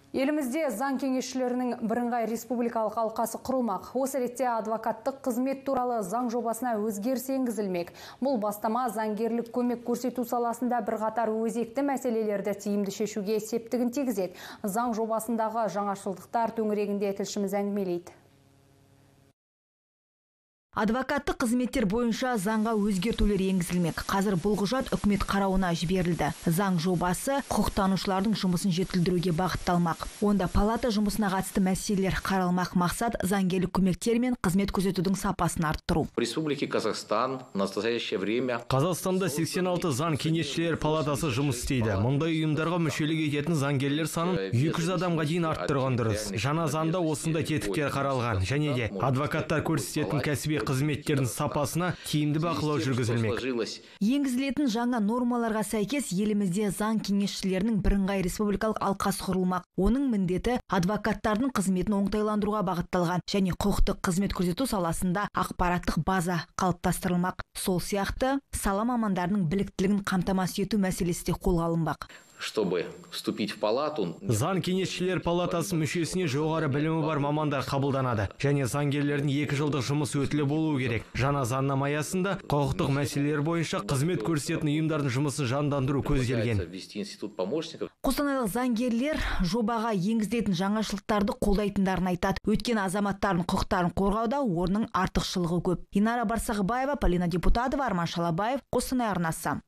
Елімізде заң кеңесшілерінің бірыңғай республикалық алқасы құрылмақ. Осы ретте адвокаттық қызмет туралы заң жобасына өзгеріс енгізілмек. Бұл бастама заңгерлік көмек көрсету саласында бірқатар өзекті мәселелерді тиімді шешуге септігін тигізеді. Заң жобасындағы жаңашылдықтар төңірегінде тілшіміз әңгімелейді. Адвокаттық қызметтер бойынша заңға өзгертулер енгізілмек. Қазір бұл құжат үкімет қарауына жіберілді. Заң жобасы құқықтанушылардың жұмысын жетілдіруге бағытталмақ. Онда палата жұмысына қатысты мәселелер қаралмақ. Мақсат заңгерлік көмектер мен қызмет көрсетудің сапасын арттыру. Республики Казахстан в настоящее время Қазақстанда 86 заң кеңесшілер палатасы жұмыс істейді. Мұндай ұйымдарға мүшелік ететін заңгерлер санын 200 адамға дейін арттырған дұрыс. Жаңа заңда осындай тетіктер қаралған, және де адвокаттар көрсететін кәсіби қызметтердің сапасына тиімді бақылау жүргізілмек. Енгізілетін жаңа нормаларға сәйкес елімізде заң кеңесшілерінің бірыңғай республикалық алқасы құрылмақ. Оның міндеті адвокаттардың қызметін оңтайландыруға бағытталған және құқықтық қызмет көрсету саласында ақпараттық база қалыптастырылмақ. Сол сияқты сала мамандарының біліктілігін қамтамасыз ету мәселесі де қолға алынбақ. Чтобы вступить в палату, Заң кеңесшілер палатасы мүшесіне жоғары білімі бар мамандар қабылданады. Және заңгерлердің 2 жылдық жұмыс өтілі болуы керек. Жаңа заңнама аясында құқықтық мәселелер бойынша қызмет көрсететін ұйымдардың жұмысын жандандыру көзделген. Қостанайлық заңгерлер жобаға енгізілетін жаңашылдықтарды қолдайтындарын айтады. Өткен азаматтардың құқықтарын қорғауда орның артықшылығы көп. Инара Барсағыбаева, Полина Депутатова, Арман Шалабаев, Қостанай арнасы.